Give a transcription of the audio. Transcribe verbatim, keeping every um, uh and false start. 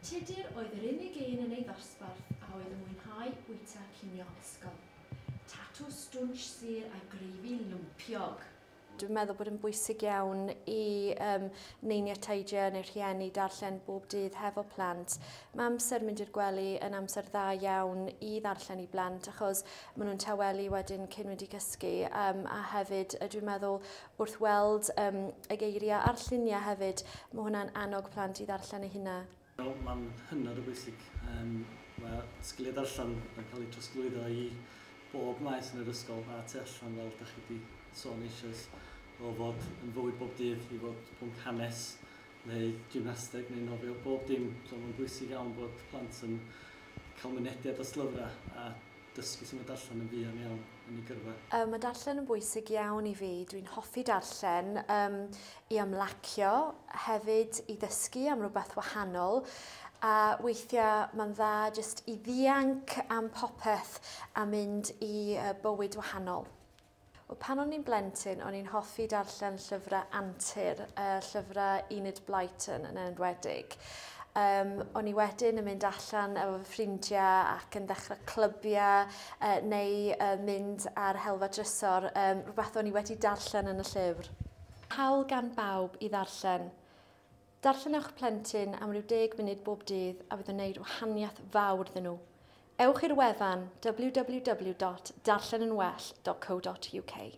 Tudur oedd yr unig un yn ei ddosbarth a oedd yn mwynhau bwyta cinio ysgol. Tatws stwnsh sur a greifi lwmpiog. Dwi'n meddwl bod yn bwysig iawn i um, neiniau, teidiau neu rhieni darllen bob dydd hefo plant. Mae amser mynd i'r gwely yn amser dda iawn i ddarllen i blant achos maen nhw'n tawelu wedyn cyn mynd i gysgu, um, a hefyd dwi'n meddwl wrth weld um, y geiriau a'r lluniau hefyd, mae hwnna'n annog plant i ddarllen eu hunain. Mae'n hynod o bwysig. Um, mae sgiliau darllen yn cael eu trosglwyddo i bob maes yn yr ysgol a tu allan, fel ydych chi wedi sôn eisoes, o fod yn fywyd bob dydd i fod pwnc hanes neu gymnasteg neu nofio, bob dim. So mae'n bwysig iawn bod plant yn cael mynediad at lyfrau a dysgu sut mae darllen yn fuan iawn yn ei gyrfa. Um, mae darllen yn bwysig iawn i fi. Dwi'n hoffi darllen um, i ymlacio, hefyd i ddysgu am rhywbeth wahanol. A weithiau mae'n dda jyst i ddianc am popeth a mynd i uh, bywyd wahanol. Wel, pan o'n i'n blentyn, o'n i'n hoffi darllen llyfrau antur, uh, llyfrau Enid Blyton yn enwedig. Um, o'n i wedyn yn mynd allan efo fy ffrindiau ac yn ddechrau clybiau uh, neu uh, mynd ar helfa drysor, um, rhywbeth o'n i wedi darllen yn y llyfr. Hawl gan bawb i ddarllen. Darllenwch plentyn am ryw deg munud bob dydd a fydd yn gwneud wahaniaeth fawr iddyn nhw. Ewch i'r wefan w w w dot darllen yn well dot co dot u k.